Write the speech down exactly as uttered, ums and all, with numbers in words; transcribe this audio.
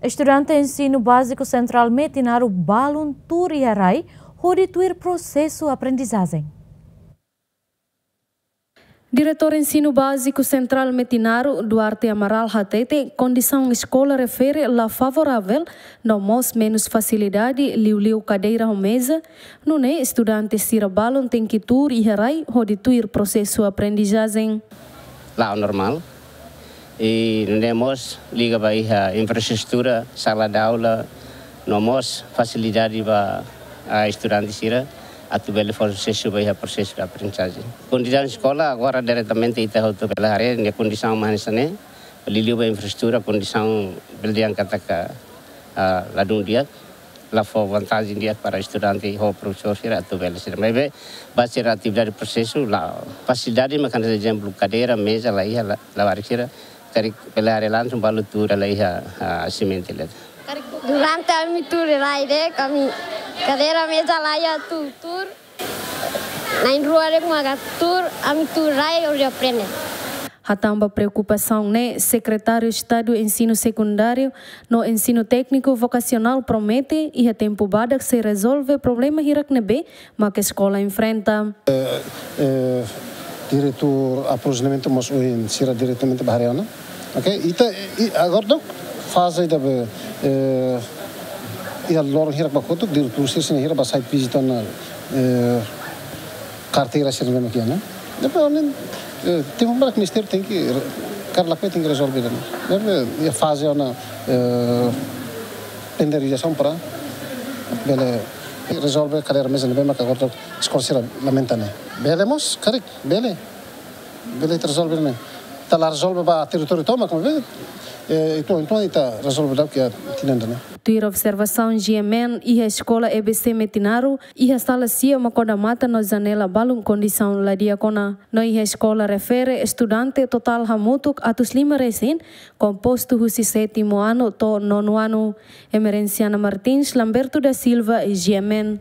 Estudante Ensinu Báziku Sentrál Metinaro balun tuur iha rai hodi tuir prosesu aprendizajen. Diretór Ensinu Báziku Sentrál Metinaro, Duarte Amaral hatete, kondisaun eskola refere la favoravel, no mós menus fasilidade, liuliu kadeira ho meza, nune'e estudante sira balun tenke tuur iha rai hodi tuir prosesu aprendizajen. La'o normál. I nune'e mós liga ba iha infraestrutura, sala de aula, no mós fasilidade ba, ah, estudante sira atu bele fó susesu ba iha prosesu de aprendizajen. Kondisaun eskola agora diretamente ita hotu bele haree nia kondisaun mak hanesan ne'e, liuliu ba infraestrutura, kondisaun bele dehan katak, ah, ladún di'ak, la fó vantajen di'ak para estudante ho profesór sira atu bele sira. Maibé ba sira atividade prosesu la'o, fasilidade mak hanesan ezemplu kadeira, meza la iha, la, labarik sira karik bele haree langsung balu tuur la iha, ah, simente let. Durante ami tuur rai de'it, ami kadeira, meza la iha, tuur, tuur. Na'in-rua de'it maka tuur, ami tuur rai hodi aprende. Hatán ba preokupasaun ne'e, Sekretáriu Estadu Ensinu Sekundáriu no Ensinu Tékniku Vokasionál promete iha tempu badak sei rezolve problema hirak ne'ebé mak eskola enfrenta. Eh, diretór aprovizionamentu mós ohin sira diretamente ba haree ona. Oke, ita, i, agora daudaun faze ida be, eh, iha loron hirak ba kotuk, diretór sira sira hirak ba site visit ona, eh, karteira sira ne'ebé mak iha ne'e. Depois, ohin, eh, tempu badak ministériu tenke re-, karik lakohi tenke rezolve ona. Depois, iha faze ona, eh, penderizasaun para bele rezolve kadeira, meza ne'ebé mak agora daudaun eskola sira lamenta ne'e. Bele mós, karik, bele. Bele ita rezolve ne'e. Ita la rezolve ba territóriu tomak, maibé, eh, entaun, entaun ita rezolve daudauk iha tinan ida-ne'e. Tuir observasaun G M N, iha eskola E B C Metinaro, iha sala sia mak odamatan no janela balun kondisaun la di'ak ona. No iha eskola refere, estudante totál hamutuk atus lima resin, kompostu husi sétimu anu to'o nonu anu. Emerenciana Martins, Lamberto da Silva, G M N.